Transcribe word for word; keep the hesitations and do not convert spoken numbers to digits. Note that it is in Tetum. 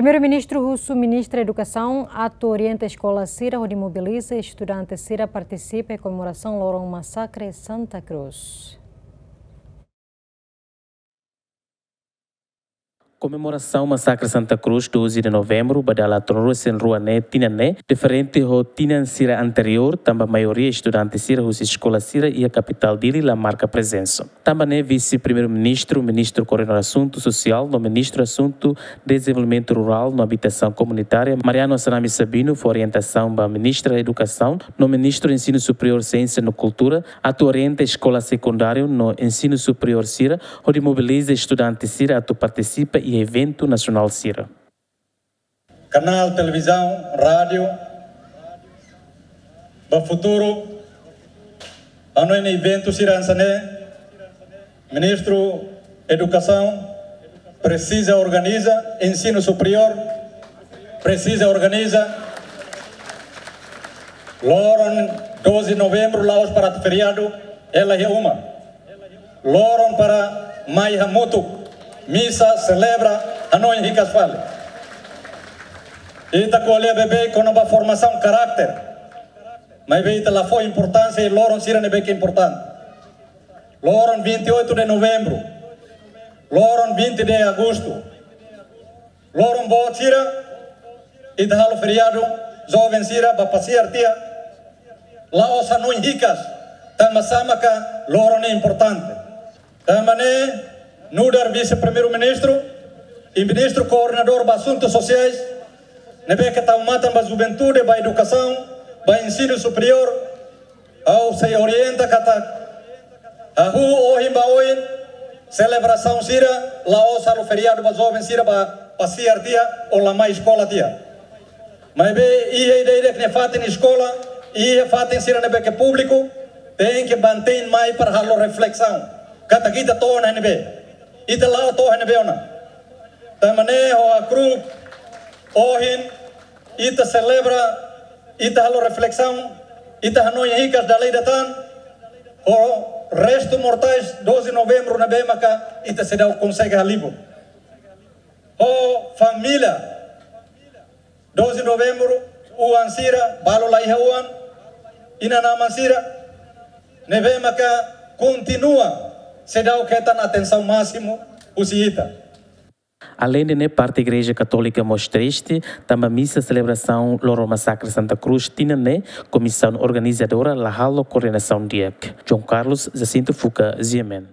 Primeiru-Ministru husu Ministra Edukasaun atu orienta eskola sira hodi mobiliza estudante sira partisipa iha komemorasaun loron masakre Santa Cruz. Komemorasaun masakre Santa Cruz, doze de novembro, ba dala tolunulu-resin-rua ne'e, tinan ne'e diferente ho tinan sira anteriór, tanba maioria estudante sira husi eskola sira iha kapitál Dili la marka prezensa. Tanba ne'e, Vise-Primeiru-Ministru, Ministru Koordenadór Asuntu Sosiál no Ministru Asuntu Dezenvolvimentu Rurál no Abitasaun Komunitária, Mariano Assanami Sabino, fó orientasaun ba Ministra Edukasaun no Ministru Ensinu Superiór, Siénsia no Kultura atu orienta eskola sekundáriu no ensinu superiór sira hodi mobiliza estudante sira atu partisipa iha eventu nasionál sira. Kanál televizaun, rádiu, ba futuru, hanoin eventu sira hanesan ne'e, Ministru Edukasaun presiza organiza, ensinu superiór presiza organiza, loron doze novembru la'ós para feriadu, hela iha uma. Loron para mai hamutuk, misa, selebra, hanoin hikas fali. Ita ko'alia beibeik kona-ba formasaun karáter. Maibé ita la fó importánsia iha loron sira ne'ebé ke importante. Loron vinte e oito de novembro, loron vinte de agosto, loron boot sira, ita halo feriadu, joven sira ba pasiar tiha, la'ós hanoin hikas, tanba sá maka loron ne'e importante. Tanba ne'e, nu'udar Vise-Primeiru-Ministru i Ministru Koordenadór ba Asuntu Sosiais, ne'ebé ke tau matan ba juventude, ba edukasaun, ba ensinu superiór, ha'u sei orienta katak, hahú ohin ba oin, selebrasaun sira, la'ós halo feriadu ba joven sira ba pasiar tiha, ou la mai eskola tiha. Maibé, iha ida-idak nia fatin eskola, iha fatin sira ne'ebé ke públiku, tenke mantein mai para halo reflesaun. Katak ita to'o ona iha ne'ebé. Ita la'o to'o iha ne'ebé ona. Tanba ne'e ho hakru'uk, ohin, ita selebra, ita halo reflesaun, ita hanoin hikas dala ida tan, ho restu mortais doze novembru ne'ebé maka ita seidauk konsege halibur. Ho família, doze novembru, oan sira, balu la iha oan, inan-aman sira, ne'ebé maka kontinua seidauk hetan atensaun másimu husi ita. Aleinde ne'e, parte Igreja Katólika mós triste, tanba misa selebrasaun loron masakre Santa Cruz tinan ne'e, komisaun organizadora la halo koordenasaun di'ak. João Carlos Jacinto Fuca, G M N.